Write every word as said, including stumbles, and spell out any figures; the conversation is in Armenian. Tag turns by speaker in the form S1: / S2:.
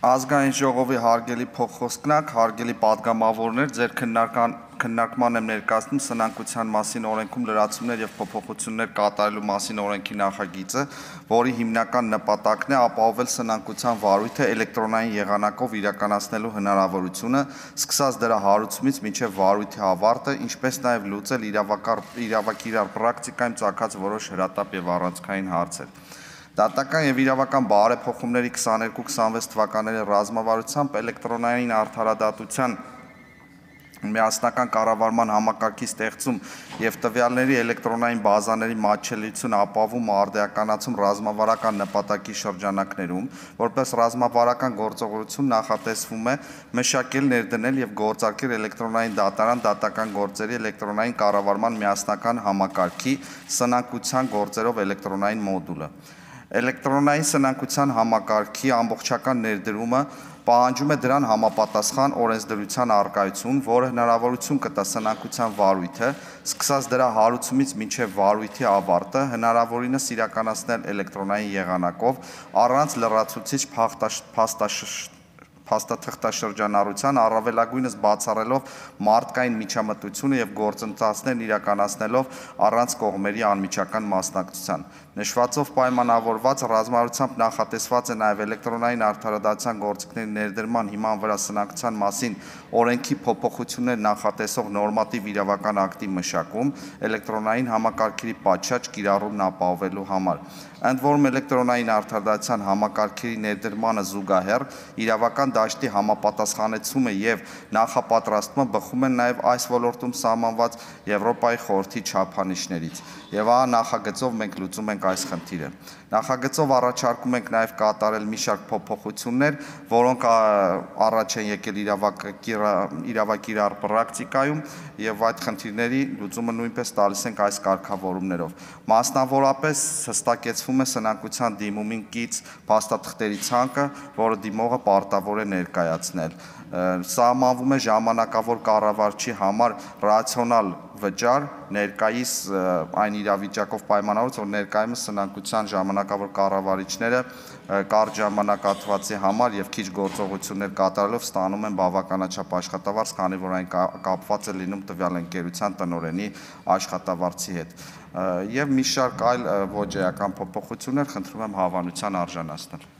S1: Ազգային ժողովի հարգելի փոխխոսքնակ, հարգելի պատգամավորներ, ձեր քննարկման եմ ներկայացնում սնանկության մասին օրենքում լրացումներ և փոփոխություններ կատարելու մասին օրենքի նախագիծը, որի հիմնական նպատակն է ապահովել սնանկության վարույթը էլեկտրոնային եղանակով իրականացնելու հնարավորությունը, սկսած դրա հարուցումից մինչև վարույթի ավարտը, ինչպես նաև լուծել իրավակիրառ պրակտիկայում ծագած որոշ հրատապ և առանցքային հարցեր։ Դատական և իրավական բարեփոխումների քսաներկու քսանվեց թվականների ռազմավարությամբ էլեկտրոնային արդարադատության միասնական կառավարման համակարգի ստեղծում և տվյալների էլեկտրոնային բազաների մատչելիությունը ապահովում ու արդիականացում ռազմավարական նպատակի շրջանակներում, որպես ռազմավարական գործողություն նախատեսվում է մշակել, ներդնել և գործարկել էլեկտրոնային դատարան դատական գործերի էլեկտրոնային կառավարման միասնական համակարգի սնանկության գործերով էլեկտրոնային մոդուլը։ Էլեկտրոնային սնանկության համակարգի ամբողջական ներդրումը պահանջում է դրան համապատասխան օրենսդրության առկայություն, որը հնարավորություն կտա սնանկության վարույթը, սկսած դրա հարուցումից մինչև վարույթի ավարտը, հնարավորինս իրականացնել էլեկտրոնային եղանակով, առանց լրացուցիչ փաստաթղթաշրջանառության, առավելագույնս բացառելով մարդկային միջամտությունը և գործընթացներն իրականացնելով առանց կողմերի անմիջական մասնակցության։ Նշվածով պայմանավորված ռազմավարությամբ նախատեսված է նաև էլեկտրոնային արդարադատության գործիքների ներդրման հիման վրա սնանկության մասին օրենքի փոփոխություններ նախատեսող նորմատիվ իրավական ակտի մշակում, էլեկտրոնային համակարգերի պատշաճ կիրառումն ապահովելու համար։ Ընդ որում էլեկտրոնային արդարադատության համակարգերի ներդրմանը զուգահեռ իրավական դաշտի համապատասխանեցումը և նախապատրաստումը բխում են նաև այս ոլորտում սահմանված Եվրոպայի խորհրդի չափանիշներից։ Եվ ահա նախագծով մենք լուծում ենք այս խնդիրը։ Նախագծով առաջարկում ենք նաև կատարել մի շարք փոփոխություններ, որոնք առաջ են եկել իրավակիրառ պրակտիկայում և այդ խնդիրների լուծումը նույնպես տալիս ենք այս կարգավորումներով։ Մասնավորապես հստակեցվում է սնանկության դիմումին կից փաստաթղթերի ցանկը, որը դիմողը պարտավոր է ներկայացնել։ Սահմանվում է ժամանակավոր կառավարչի համար ռացիոնալ վճար, ներկայիս այն իրավիճակով պայմանավորված, որ ներկայումս սնանկության ժամանակավոր կառավարիչները կարճ ժամանակահատվածի համար և քիչ գործողություններ կատարելով ստանում են բավականաչափ աշխատավարձ, քանի որ այն կապված է լինում տվյալ ընկերության տնօրենի աշխատավարձի հետ։ Եվ մի շարք այլ ոչ էական փոփոխություններ խնդրում եմ հավանության արժանացնել։